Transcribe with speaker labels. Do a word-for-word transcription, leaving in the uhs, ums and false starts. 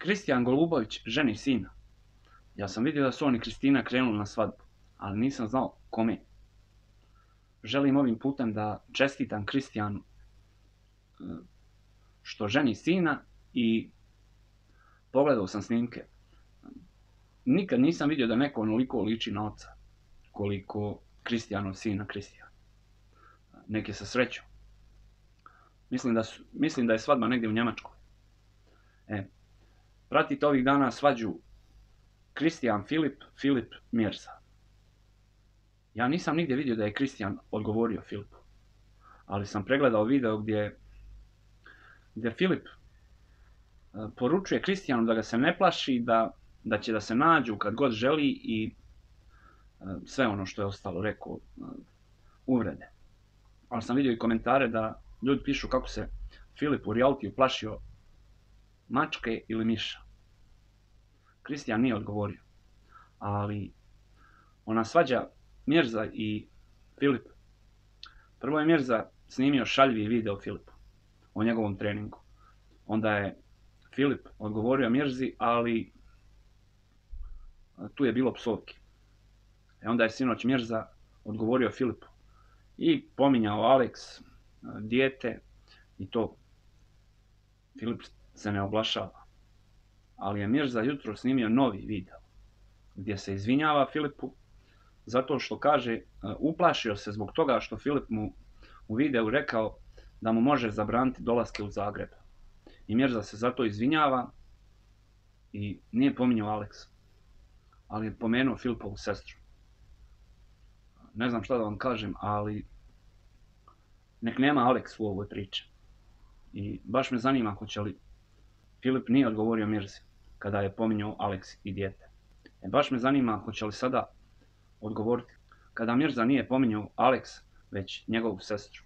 Speaker 1: Kristijan Golubović ženi sina. Ja sam vidio da su on i Kristina krenuli na svadbu, ali nisam znao kome. Želim ovim putem da čestitam Kristijanu što ženi sina i pogledao sam snimke. Nikad nisam vidio da neko onoliko liči na oca koliko Kristijanov sina Kristijan. Nek je sa srećom. Mislim da, su, mislim da je svadba negdje u Njemačkoj. E, pratite ovih dana svađu Kristijan Filip, Filip Mirza. Ja nisam nigdje vidio da je Kristijan odgovorio Filipu, ali sam pregledao video gdje, gdje Filip poručuje Kristijanu da ga se ne plaši, da, da će da se nađu kad god želi i sve ono što je ostalo, rekao, uvrede. Ali sam vidio i komentare da ljudi pišu kako se Filip u realitiju plašio mačke ili miša. Kristijan nije odgovorio, ali ona svađa Mirza i Filip. Prvo je Mirza snimio šaljivi video Filipu o njegovom treningu. Onda je Filip odgovorio Mirzi, ali tu je bilo psovki. E onda je sinoć Mirza odgovorio Filipu i pominjao Alex, dijete i to. Filip se ne oglašava. Ali je Mirza jutro snimio novi video gdje se izvinjava Filipu zato što kaže uplašio se zbog toga što Filip mu u videu rekao da mu može zabraniti dolaske u Zagreb. I Mirza se zato izvinjava i nije pominjao Alex, ali je pomenuo Filipovu sestru. Ne znam šta da vam kažem, ali nek nema Alex u ovoj priči. I baš me zanima hoće li Filip nije odgovorio Mirzi kada je pominjao Alex i dijete. E baš me zanima hoće li sada odgovoriti kada Mirza nije pominjao Alex, već njegovu sestru.